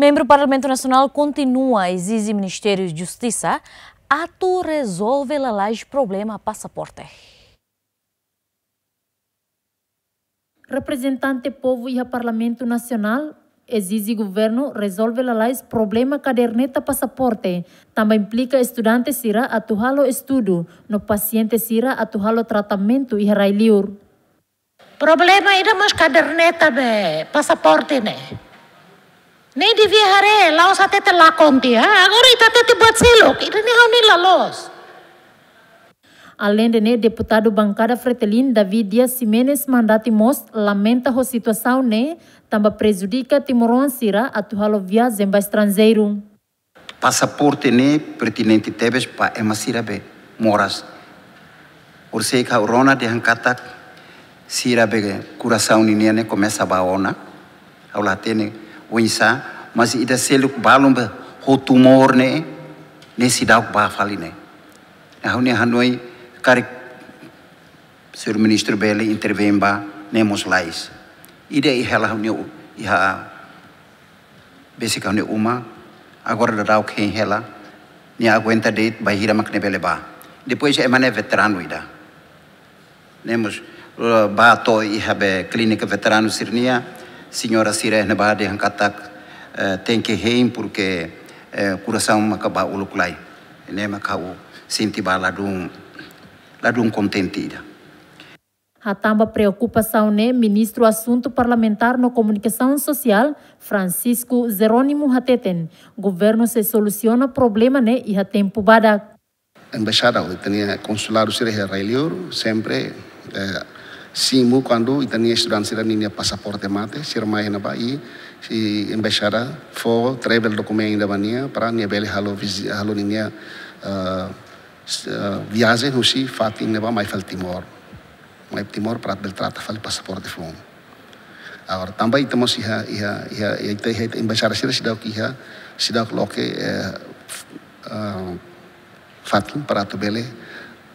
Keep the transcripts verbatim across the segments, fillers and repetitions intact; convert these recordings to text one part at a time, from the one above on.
Membru Parlamentu Nasionál kontinua ezije Ministériu Justisa atu rezolve lalais problema pasaporte. Reprezentante povu iha Parlamentu Nasionál ezije governu rezolve lalais problema kaderneta pasaporte, tanba implika estudante sira atu halo estudu, no pasiente sira atu halo tratamentu iha rai-liur. Problema ida mós kaderneta be pasaporte ne'e. Ne'e devia haree, la'ós hatete lakon tiha, agora ita hatete buat seluk, ida-ne'e ha'u hanoin la loos. Aleinde ne'e, deputadu bankada Fretilin, David Dias Ximenes Mandati mós lamenta ho situasaun ne'e, tanba prejudika timoroan sira atu halo viajen ba estranjeiru. Pasaporte ne'e pertinente tebes ba ema sira be moras. Orsida ha'u rona dehan katak sira be korasaun ninian ne'e komesa bá ona. Ha'u la hatene oinsá, mas ida seluk balun be ho tumór ne'e, ne'e seidauk bá fali ne'e. Ha'u-nia hanoin karik señór ministru bele intervein ba ne'e mós lalais. Ida iha hela ha'u-nia u-, iha besik ha'u-nia uma, agora daudaun hein hela, nia aguenta de'it, bainhira mak nia bele bá. Depois ema ne'e veteranu ida. Ne'e mós, eh, bá to'o iha be klínika veteranu sira-nian, señora sira ne'ebá dehan katak, eh, tenke hein, porque, eh, korasaun maka bá uluk lai. Ne'e maka ha'u sente bá ladún, ladún kontente ida. Hatán ba preokupasaun ne'e, Ministru Asuntu Parlamentár no Komunikasaun Sosiál, Francisco Jerónimo hateten, governu sei solusiona problema ne'e iha tempu badak. Embaixada, ita-nia konsuladu sira iha rai-liur, sempre, eh, simu kuandu ita-nia estudante sira ninia pasaporte mate, sira mai iha ne'ebá i, i embaixada fó travel document ida ba nia, para nia bele halo vizi-, halo ninia, eh, s-, eh, viajen husi fatin ne'ebá mai fali Timor. Mai Timor para bele trata fali pasaporte foun. Agora, tanba ita mós iha, iha, iha, iha, ita, iha, ita embaixada sira seidauk iha, seidauk loke, eh, f-, eh, fatin para atu bele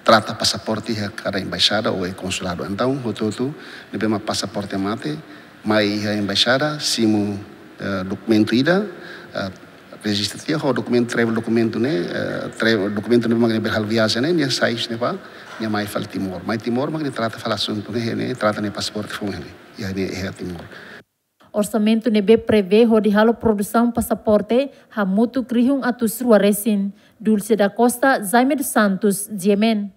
trata pasaporte iha kada embaixada ou iha konsuladu. Entaun, hotu-hotu ne'ebé mak pasaporte mate, mai iha embaixada, simu, eh, dokumentu ida, eh, rejista tiha ho dokumentu, travel dokumentu ne'e, eh, tra-, dokumentu ne'ebé mak nia bele halo viajen ne'e, nia sai husi ne'ebá, nia mai fali Timor. Mai Timor mak nia trata fali asuntu ne'e, nia trata nia pasaporte foun ne'e, iha ne'e, iha Timor. Orsamentu ne'ebé prevee hodi halo produsaun pasaporte hamutuk rihun atus rua resin. Dulce da Costa, Jaime dos Santos, G M N.